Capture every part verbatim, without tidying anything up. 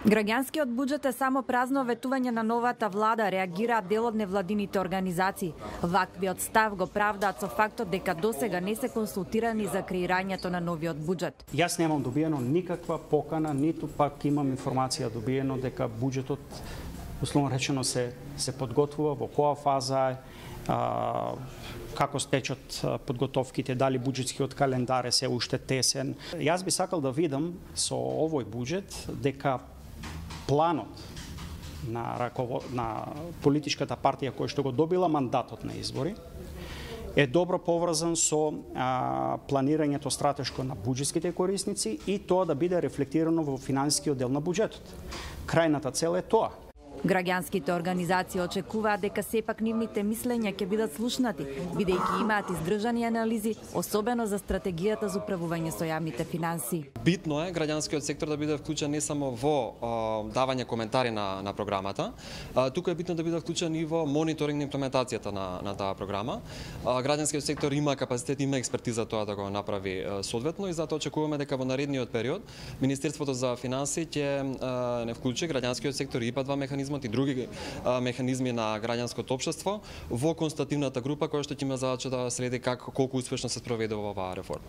Граѓанскиот буџет е само празно ветување на новата влада, реагираат дел од невладините организации. Ваквиот став го правдаат со фактот дека досега не се консултирани за креирањето на новиот буџет. Јас немам добиено никаква покана, ниту пак имам информација добиено дека буџетот, условно речено, се се подготвува, во која фаза е, а, како стечат подготовките, дали буџетскиот календар е се уште тесен. Јас би сакал да видам со овој буџет дека планот на раково... на политичката партија која што го добила мандатот на избори е добро поврзан со а, планирањето стратешко на буџетските корисници и тоа да биде рефлектирано во финансискиот дел на буџетот. Крајната цел е тоа. Граѓанските организации очекуваат дека сепак нивните мислења ќе бидат слушнати, бидејќи имаат издржани анализи, особено за стратегијата за управување со јавните финансии. Битно е граѓанскиот сектор да биде вклучен не само во а, давање коментари на, на програмата, а, туку е битно да биде вклучен и во мониторинг на имплементацијата на, на таа програма. А, граѓанскиот сектор има капацитет, има експертиза тоа да го направи а, соодветно и затоа очекуваме дека во наредниот период Министерството за финансии ќе а, не вклучи граѓанскиот сектор и ИПА два механизми и други а, механизми на граѓанското општество во констативната група која што ќе има задача да следи как колку успешно се спроведува оваа реформа.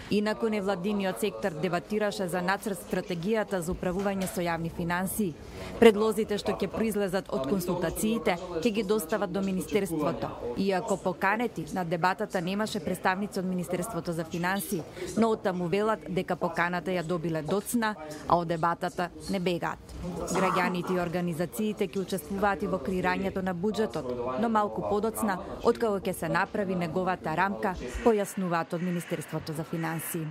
Инаку невладиниот сектор дебатираше за нацрт стратегијата за управување со јавни финансии. Предлозите што ќе произлезат од консултациите ќе ги достават до Министерството. Иако поканети на дебатата немаше представници од Министерството за финансии, но оттаму велат дека поканата ја добиле доцна, а од дебатата не бегаат. Граѓаните и организациите ќе учествуваат и во креирањето на буџетот, но малку подоцна откако ќе се направи неговата рамка, појаснуваат од Министерството за финансии.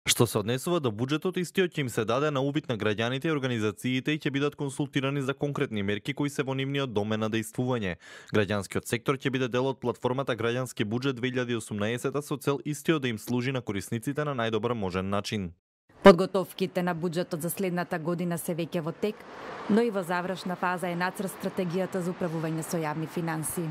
Што се однесува до буџетот, истиот ќе им се даде на увид на граѓаните и организациите и ќе бидат консултирани за конкретни мерки кои се во нивниот домен на дејствување. Граѓанскиот сектор ќе биде дел од платформата Граѓански буџет две илјади и осумнаесета со цел истиот да им служи на корисниците на најдобар можен начин. Подготовките на буџетот за следната година се веќе во тек, но и во завршна фаза е нацрт стратегијата за управување со јавни финансии.